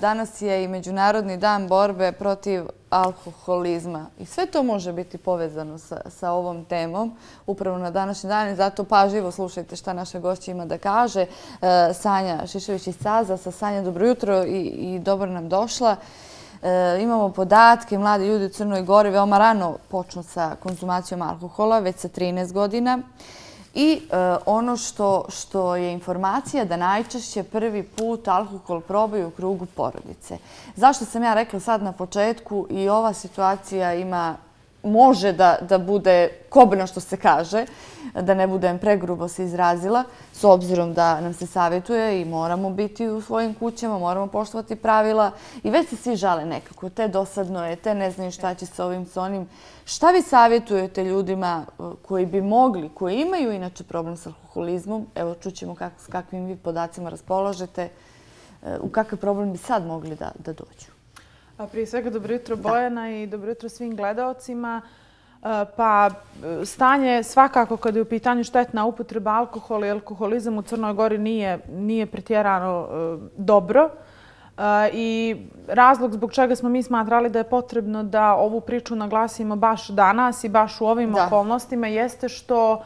danas je i Međunarodni dan borbe protiv alkoholizma. I sve to može biti povezano sa ovom temom upravo na današnji dan i zato pažljivo slušajte šta naša gošća ima da kaže. Sanja Šišević iz CAZ-a. Sanja, dobro jutro i dobro nam došla. Imamo podatke, mladi ljudi u Crnoj Gori veoma rano počnu sa konzumacijom alkohola, već sa 13 godina. I ono što je informacija da najčešće prvi put alkohol probaju u krugu porodice. Zašto sam ja rekla sad na početku i ova situacija može da bude kobno što se kaže, da ne budem pregrubo se izrazila, s obzirom da nam se savjetuje i moramo biti u svojim kućama, moramo poštovati pravila i već se svi žale nekako, te dosadno je, te ne znaju šta će sa ovim, sa onim. Šta vi savjetujete ljudima koji bi mogli, koji imaju inače problem s alkoholizmom, evo čućemo s kakvim vi podacima raspolažete, u kakav problem bi sad mogli da dođu? Prije svega dobro jutro Bojana i dobro jutro svim gledaocima. Pa stanje svakako kada je u pitanju štetna upotreba alkohola i alkoholizam u Crnoj Gori nije pretjerano dobro. I razlog zbog čega smo mi smatrali da je potrebno da ovu priču naglasimo baš danas i baš u ovim okolnostima jeste što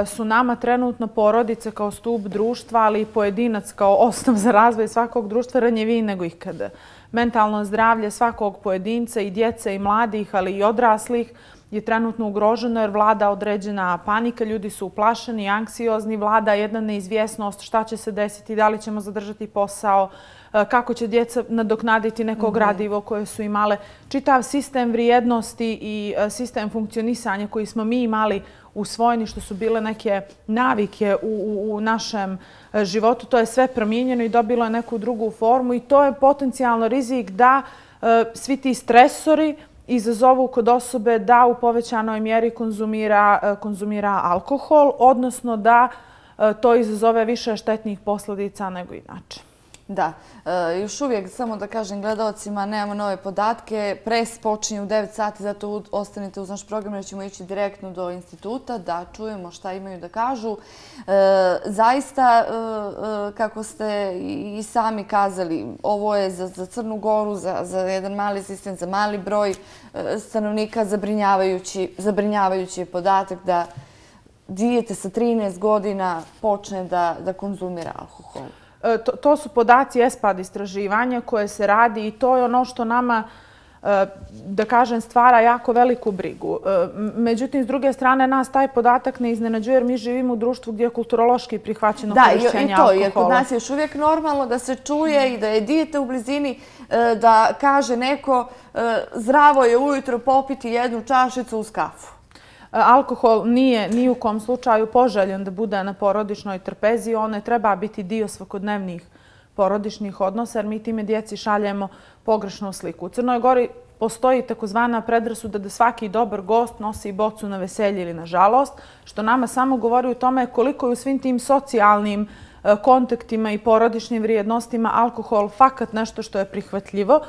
su nama trenutno porodice kao stup društva, ali i pojedinac kao osnov za razvoj svakog društva ranjiviji nego ikada. Mentalno zdravlje svakog pojedinca i djece i mladih, ali i odraslih je trenutno ugroženo jer vlada određena panika, ljudi su uplašeni, anksiozni, vlada jedna neizvjesnost šta će se desiti, da li ćemo zadržati posao, kako će djeca nadoknaditi neko gradivo koje su imale. Čitav sistem vrijednosti i sistem funkcionisanja koji smo mi imali usvojeni, što su bile neke navike u našem životu, to je sve promijenjeno i dobilo je neku drugu formu i to je potencijalno rizik da svi ti stresori izazovu kod osobe da u povećanoj mjeri konzumira alkohol, odnosno da to izazove više štetnih posljedica nego inače. Da, još uvijek, samo da kažem gledalcima, nemamo nove podatke. Pres počinje u 9 sati, zato ostanite uz naš program jer ćemo ići direktno do instituta da čujemo šta imaju da kažu. Zaista, kako ste i sami kazali, ovo je za Crnu Goru, za jedan mali sistem, za mali broj stanovnika zabrinjavajući je podatak da dijete sa 13 godina počne da konzumira alkohol. To su podaci ESPAD istraživanja koje se radi i to je ono što nama, da kažem, stvara jako veliku brigu. Međutim, s druge strane, nas taj podatak ne iznenađuje jer mi živimo u društvu gdje je kulturološki prihvaćeno korišćenje alkohola. Da, i to, jer kod nas je još uvijek normalno da se čuje i da je dijete u blizini, da kaže neko zdravo je ujutro popiti jednu čašicu uz kafu. Alkohol nije ni u kom slučaju poželjen da bude na porodičnoj trpezi. On ne treba biti dio svakodnevnih porodičnih odnosa jer mi time djeci šaljemo pogrešnu sliku. U Crnoj Gori postoji takozvana predrasuda da svaki dobar gost nosi bocu na veselje ili na žalost, što nama samo govori o tome koliko je u svim tim socijalnim kontaktima i porodičnim vrijednostima alkohol fakat nešto što je prihvatljivo.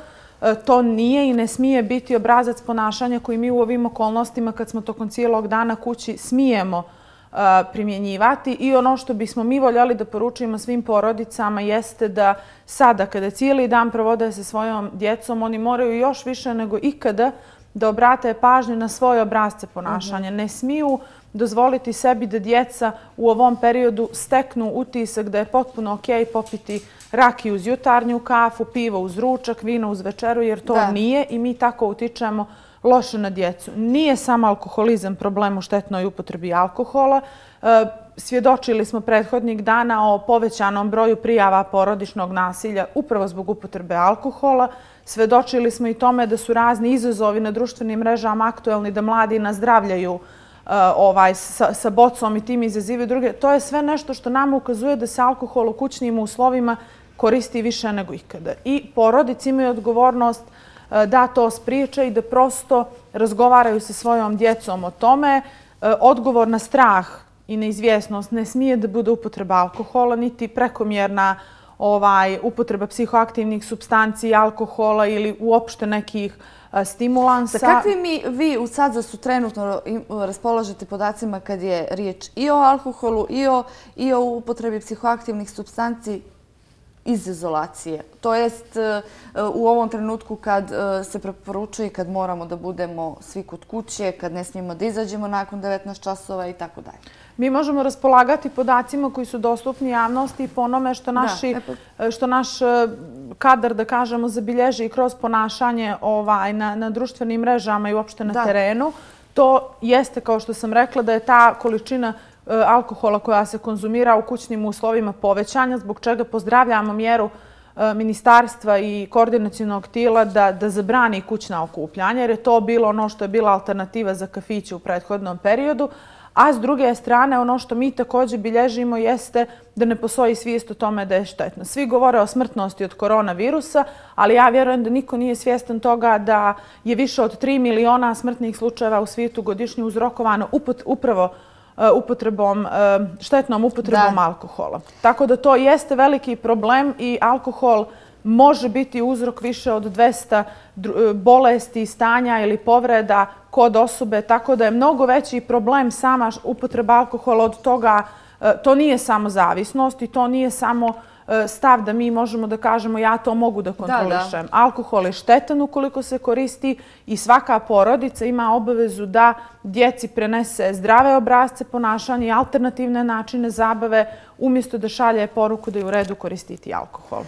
To nije i ne smije biti obrazac ponašanja koji mi u ovim okolnostima kad smo tokom cijelog dana kući smijemo primjenjivati i ono što bismo mi voljeli da poručimo svim porodicama jeste da sada kada cijeli dan provode sa svojom djecom oni moraju još više nego ikada da obrate pažnju na svoje obrasce ponašanja. Ne smiju dozvoliti sebi da djeca u ovom periodu steknu utisak da je potpuno okej popiti rakiju uz jutarnju kafu, pivo uz ručak, vino uz večeru, jer to nije i mi tako utičemo loše na djecu. Nije samo alkoholizam problem u štetnoj upotrebi alkohola. Svjedočili smo prethodnih dana o povećanom broju prijava porodičnog nasilja upravo zbog upotrebe alkohola. Svjedočili smo i tome da su razni izazovi na društvenim mrežama aktuelni, da mladi nazdravljaju sa bocom i tim izazivaju druge. To je sve nešto što nam ukazuje da se alkohol u kućnim uslovima koristi više nego ikada. I porodice imaju odgovornost da to spriječe i da prosto razgovaraju sa svojom djecom o tome. Odgovor na strah i neizvjesnost ne smije da bude upotreba alkohola, niti prekomjerna upotreba psihoaktivnih supstanci, alkohola ili uopšte nekih stimulansa. Sa kakvim vi u CAZ-u trenutno raspolažete podacima kad je riječ i o alkoholu i o upotrebi psihoaktivnih supstanci? iz izolacije. To jest u ovom trenutku kad se preporučuje, kad moramo da budemo svi kod kuće, kad ne smijemo da izađemo nakon 19 časova i tako dalje. Mi možemo raspolagati podacima koji su dostupni javnosti po onome što naš kadar, da kažemo, zabilježi kroz ponašanje na društvenim mrežama i uopšte na terenu. To jeste, kao što sam rekla, da je ta količina alkohola koja se konzumira u kućnim uslovima povećanja, zbog čega pozdravljamo mjeru ministarstva i koordinacionog tijela da zabrani kućna okupljanja, jer je to bilo ono što je bila alternativa za kafiće u prethodnom periodu. A s druge strane, ono što mi također bilježimo jeste da ne postoji svijest o tome da je štetno. Svi govore o smrtnosti od koronavirusa, ali ja vjerujem da niko nije svjestan toga da je više od 3 miliona smrtnih slučajeva u svijetu godišnje uzrokovano upravo štetnom upotrebom alkohola. Tako da to jeste veliki problem i alkohol može biti uzrok više od 200 bolesti, stanja ili povreda kod osobe, tako da je mnogo veći problem sama upotreba alkohola od toga. To nije samo zavisnost i to nije samo stav da mi možemo da kažemo ja to mogu da kontrolišem. Alkohol je štetan ukoliko se koristi i svaka porodica ima obavezu da djeci prenese zdrave obrasce ponašanja i alternativne načine zabave umjesto da šalje poruku da je u redu koristiti alkohol.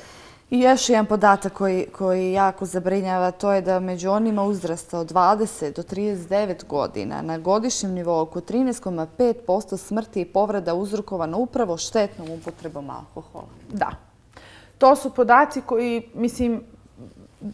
I još jedan podatak koji jako zabrinjava, to je da među onima uzrasta od 20 do 39 godina na godišnjem nivou oko 13,5% smrti i povreda uzrokovano upravo štetnom upotrebom alkohola. Da. To su podaci koji, mislim,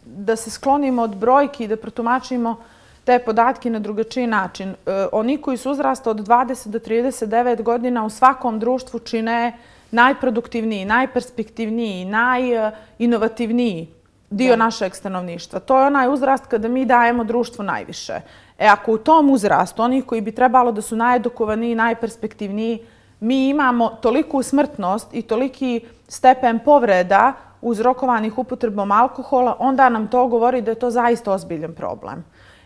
da se sklonimo od brojki i da protumačimo te podatke na drugačiji način. Oni koji su uzrasta od 20 do 39 godina u svakom društvu čine najproduktivniji, najperspektivniji, najinovativniji dio našeg stanovništva. To je onaj uzrast kada mi dajemo društvu najviše. Ako u tom uzrastu, oni koji bi trebalo da su najedukovaniji, najperspektivniji, mi imamo toliku smrtnost i toliki stepen povreda uzrokovanih upotrebom alkohola, onda nam to govori da je to zaista ozbiljan problem.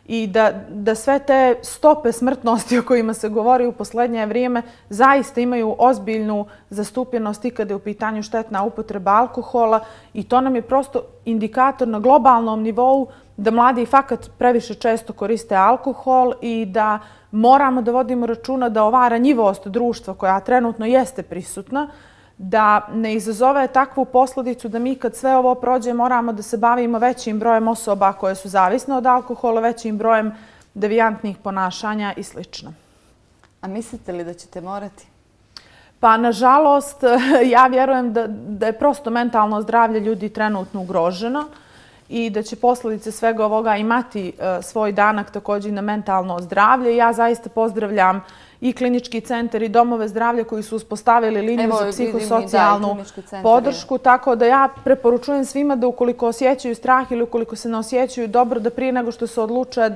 I da sve te stope smrtnosti o kojima se govori u posljednje vrijeme zaista imaju ozbiljnu zastupljenost i kada je u pitanju štetna upotreba alkohola i to nam je prosto indikator na globalnom nivou da mladi fakat previše često koriste alkohol i da moramo da vodimo računa da ova ranjivost društva koja trenutno jeste prisutna, da ne izazove takvu posljedicu da mi kad sve ovo prođe moramo da se bavimo većim brojem osoba koje su zavisne od alkohola, većim brojem devijantnih ponašanja i sl. A mislite li da ćete morati? Pa, nažalost, ja vjerujem da je prosto mentalno zdravlje ljudi trenutno ugroženo i da će posljedice svega ovoga imati svoj danak također na mentalno zdravlje. Ja zaista pozdravljam i klinički centar i domove zdravlja koji su uspostavili liniju za psihosocijalnu podršku. Tako da ja preporučujem svima da ukoliko osjećaju strah ili ukoliko se ne osjećaju dobro, da prije nego što se odluče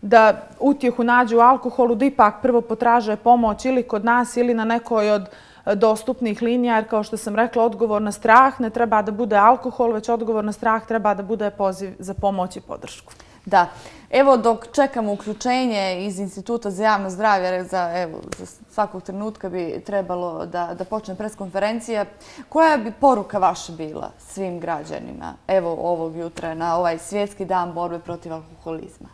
da utjehu nađu u alkoholu, da ipak prvo potraže pomoć ili kod nas ili na nekoj od dostupnih linija, jer kao što sam rekla, odgovor na strah ne treba da bude alkohol, već odgovor na strah treba da bude poziv za pomoć i podršku. Da. Evo, dok čekamo uključenje iz Instituta za javno zdravlje, za svakog trenutka bi trebalo da počne preskonferencija, koja bi poruka vaša bila svim građanima, evo ovog jutra, na ovaj svjetski dan borbe protiv alkoholizma?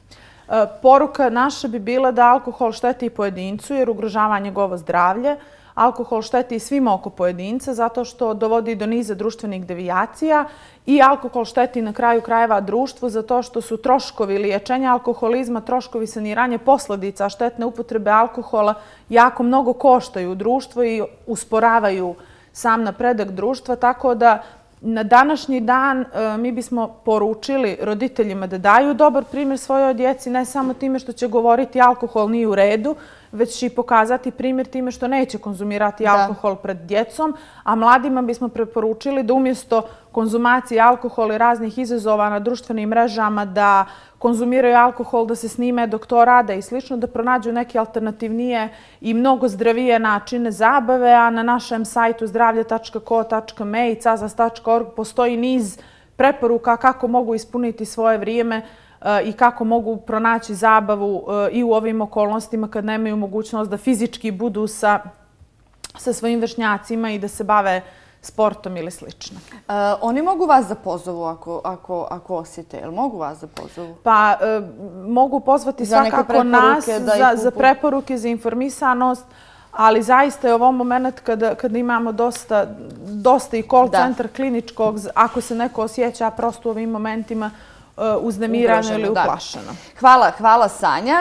Poruka naša bi bila da alkohol šteti pojedincu jer ugrožava njegovo zdravlje. Alkohol šteti svima oko pojedinca zato što dovodi do niza društvenih devijacija i alkohol šteti na kraju krajeva društvu zato što su troškovi liječenja alkoholizma, troškovi saniranja posljedica štetne upotrebe alkohola jako mnogo koštaju društvo i usporavaju sam napredak društva, tako da na današnji dan mi bismo poručili roditeljima da daju dobar primjer svojoj djeci, ne samo time što će govoriti alkohol nije u redu, već i pokazati primjer time što neće konzumirati alkohol pred djecom, a mladima bismo preporučili da umjesto konzumacije alkohola i raznih izazova na društvenim mrežama da konzumiraju alkohol, da se snime dok to rade i slično, da pronađu neke alternativnije i mnogo zdravije načine zabave, a na našem sajtu zdravlje.ko.me i cazas.org postoji niz preporuka kako mogu ispuniti svoje vrijeme i kako mogu pronaći zabavu i u ovim okolnostima kad nemaju mogućnost da fizički budu sa svojim vršnjacima i da se bave sportom ili slično. Oni mogu vas da pozovu ako osjete, ili mogu vas da pozovu? Pa mogu pozvati svakako nas za preporuke, za informisanost, ali zaista je ovo moment kada imamo dosta i call centar kliničkog, ako se neko osjeća prosto u ovim momentima uznemirano ili uplašeno. Hvala Sanja.